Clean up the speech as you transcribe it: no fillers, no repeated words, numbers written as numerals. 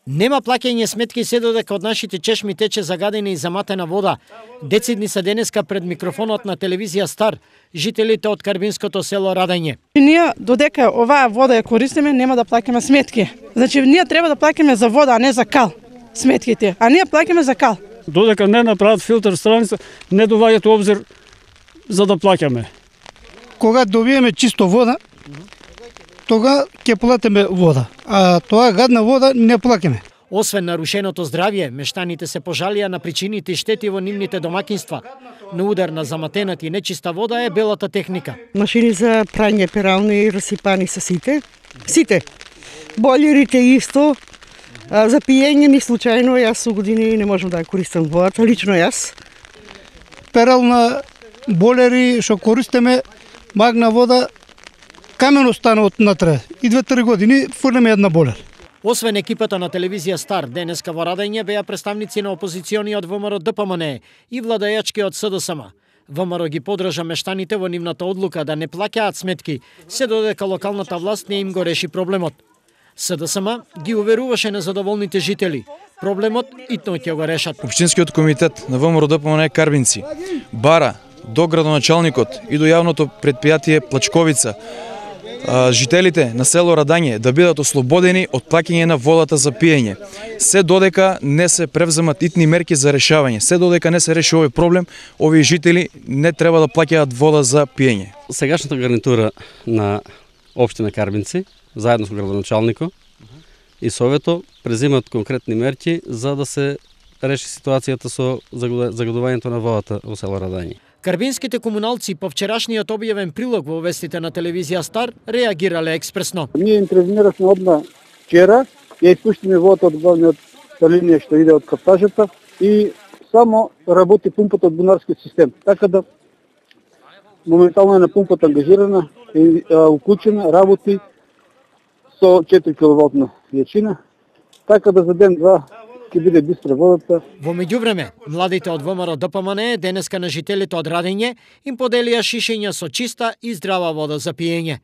Нема плаќање сметки се додека од нашите чешми тече загадена и заматена вода. Децидни се денеска пред микрофонот на телевизија Стар, жителите од карбинското село Радање. Ние додека оваа вода ја користиме, нема да плаќаме сметки. Значи ние треба да плаќаме за вода, а не за кал сметките, а ние плаќаме за кал. Додека не направат филтер страница, не доваѓаат обзир за да плаќаме. Кога добиеме чисто вода, тога ќе платиме вода, а тоа гадна вода не плаќаме. Освен нарушеното здравје, мештаните се пожалија на причините и штети во нивните домакинства. На удар на заматената и нечиста вода е белата техника. Машини за прање перални расипани се сите. Сите. Бойлерите исто. За пиење ни случајно, јас со години не можам да ја користам водата, лично јас. Перална бойлери што користиме, магна вода, камено стана од натре. И 2-3 години фрлиме една бойлер. Освен екипата на телевизија Стар, денеска во Радање беа представници на опозициониот ВМРО ДПМН и владајачкиот СДСМ. ВМРО ги подржа мештаните во нивната одлука да не плаќаат сметки, се додека локалната власт не им го реши проблемот. СДСМ ги уверуваше незадоволните жители. Проблемот итно ќе го решат. Општинскиот комитет на ВМРО ДПМН Карбинци бара до градоначалникот и до јавното предпријатие Плачковица жителите на село Радање да бидат ослободени од плаќање на водата за пиење. Се додека не се превземат итни мерки за решавање, се додека не се реши овој проблем, овие жители не треба да плаќаат вода за пиење. Сегашната гарнитура на општина Карбинци, заедно со градоначалникот и совето, презимат конкретни мерки за да се реши ситуацијата со загадувањето на водата во село Радање. Карбинските комуналци по вчерашниот објавен прилог во вестите на телевизија Стар реагирале експресно. Ние интервенирахме одма вчера, ја испуштиме водата од главниот линија што иде од каптажата и само работи пумпата од бунарскиот систем. Така да моментално е на пумпата ангажирана и уклучена, работи со 4 киловатна јачина. Така да за ден-два ќе биде бистра водата. Во меѓувреме, младите од ВМРО ДПМН денеска на жителите од Радање им поделија шишења со чиста и здрава вода за пиење.